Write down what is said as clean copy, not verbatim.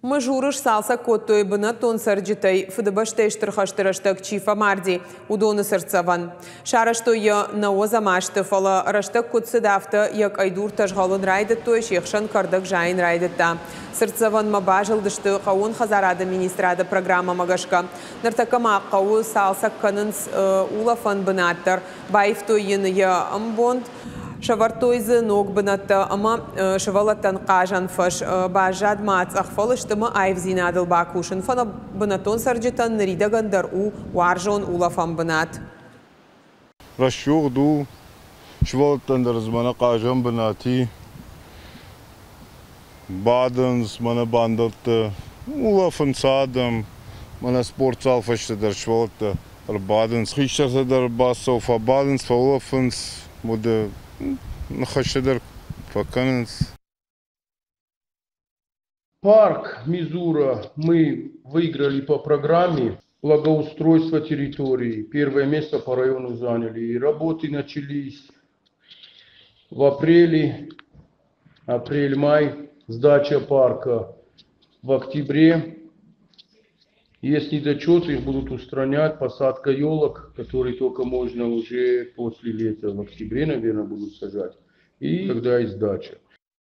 Мызуры сцалцӕг кодтой бынӕттон цӕрджытӕй Фыдыбӕстӕйы Стыр хӕсты рӕстӕг чи фӕмарди, уыдоны цыртдзӕвӕн. Сарӕзтой йӕ нӕуӕдзӕм азты, фӕлӕ рӕстӕг куыд цыд, афтӕ йӕ къӕйдуртӕ згъӕлын райдыдтой, се хсӕн кӕрдӕг зайын райдыдта. Цыртдзӕвӕнмӕ базылдысты хъӕууон хӕдзарады министрады программӕмӕ гӕсгӕ. Ныртӕккӕ ма хъӕуы цалцӕг кӕнынц улӕфӕн бынат дӕр. Баивтой йын йӕ ӕмбонд. Сӕвӕрдтой дзы ног бынӕттӕ ӕмӕ сывӕллӕттӕн хъазӕн фӕз. Баззад ма цъӕх фӕлыст ӕмӕ аивдзинадыл бакусын. Фӕлӕ бынӕттон цӕрджытӕн ныридӕгӕн дӕр у уарзон улӕфӕн бынат. Рӕсугъд у, сывӕллӕттӕн дӕр дзы мӕнӕ хъазӕн бынат и. Бадынц мӕнӕ бандӕтты, улӕфынц адӕм. Мӕнӕ спортзал фӕстӕ дӕр сывӕллӕттӕ ӕрбадынц, хистӕртӕ дӕр бацӕуы, фӕбадынц, фӕулӕфынц, уӕдӕ ныхӕстӕ дӕр фӕкӕнынц. Парк Мизура мы выиграли по программе благоустройства территории. Первое место по району заняли. И работы начались в апреле, апрель-май, сдача парка в октябре. Есть недочеты, их будут устранять, посадка елок, которые только можно уже после лета, в октябре, наверное, будут сажать. И тогда и сдача.